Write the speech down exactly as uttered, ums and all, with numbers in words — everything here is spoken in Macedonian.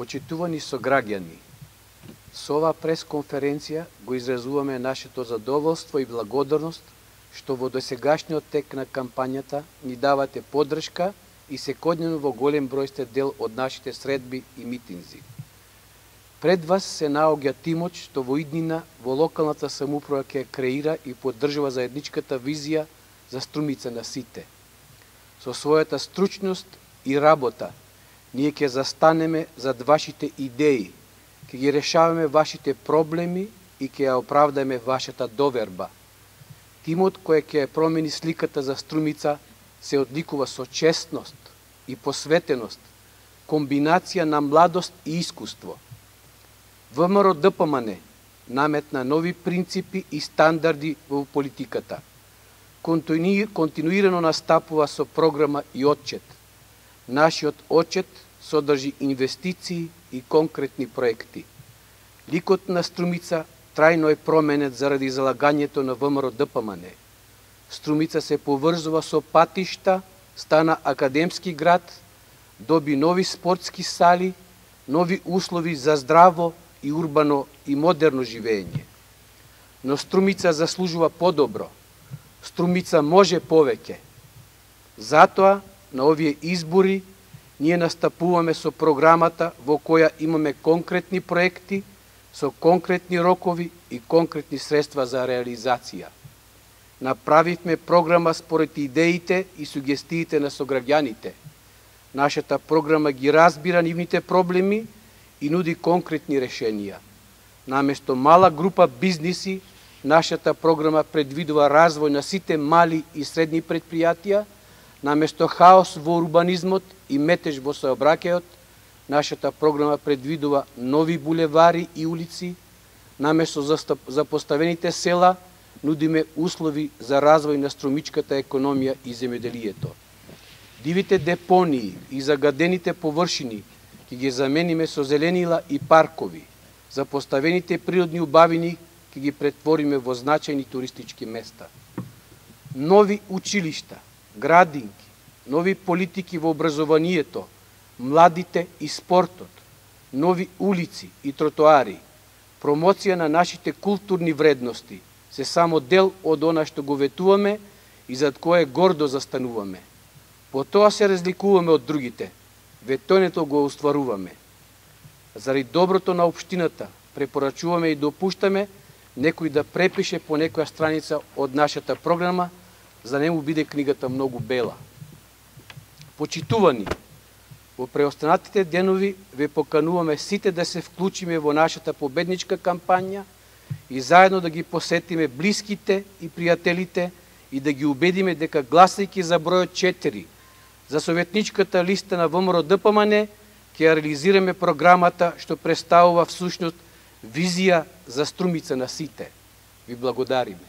Почитувани сограѓани, со оваа пресконференција го изразуваме нашето задоволство и благодарност што во досегашниот тек на кампањата ни давате поддршка и секојдневно во голем број сте дел од нашите средби и митинзи. Пред вас се наоѓа тимот што во иднина во локалната самоуправа ќе креира и поддржува заедничката визија за Струмица на сите. Со својата стручност и работа, ние ќе застанеме зад вашите идеи, ќе ги решаваме вашите проблеми и ќе ја оправдаме вашата доверба. Тимот кој ќе промени сликата за Струмица се одликува со честност и посветеност, комбинација на младост и искуство. ВМРО Д П М Н наметна нови принципи и стандарди во политиката. Континуирано настапува со програма и отчет. Нашиот отчет содржи инвестиции и конкретни проекти. Ликот на Струмица трајно е променет заради залагањето на ВМРО Д П М Н. Струмица се поврзува со патишта, стана академски град, доби нови спортски сали, нови услови за здраво и урбано и модерно живење. Но Струмица заслужува подобро. Струмица може повеќе. Затоа, на овие избори, ние настапуваме со програмата во која имаме конкретни проекти, со конкретни рокови и конкретни средства за реализација. Направивме програма според идеите и сугестиите на сограѓаните. Нашата програма ги разбира нивните проблеми и нуди конкретни решенија. Наместо мала група бизниси, нашата програма предвидува развој на сите мали и средни предпријатија. Наместо хаос во урбанизмот и метеж во сообраќајот, нашата програма предвидува нови булевари и улици. Наместо запоставените села, нудиме услови за развој на струмичката економија и земјоделието. Дивите депонии и загадените површини ќе ги замениме со зеленила и паркови. Запоставените природни убавини ќе ги претвориме во значајни туристички места. Нови училишта, градинки, нови политики во образованието, младите и спортот, нови улици и тротоари, промоција на нашите културни вредности се само дел од она што го ветуваме и зад кое гордо застануваме. По тоа се разликуваме од другите, ветоњето го остваруваме. Заради доброто на општината, препорачуваме и допуштаме некој да препише по некоја страница од нашата програма, за да не му биде книгата многу бела. Почитувани, во преостанатите денови ве покануваме сите да се вклучиме во нашата победничка кампања и заедно да ги посетиме блиските и пријателите и да ги убедиме дека гласајќи за бројот четири за советничката листа на ВМРО Д П М Н ќе реализираме програмата што представува всушност визија за Струмица на сите. Ви благодариме.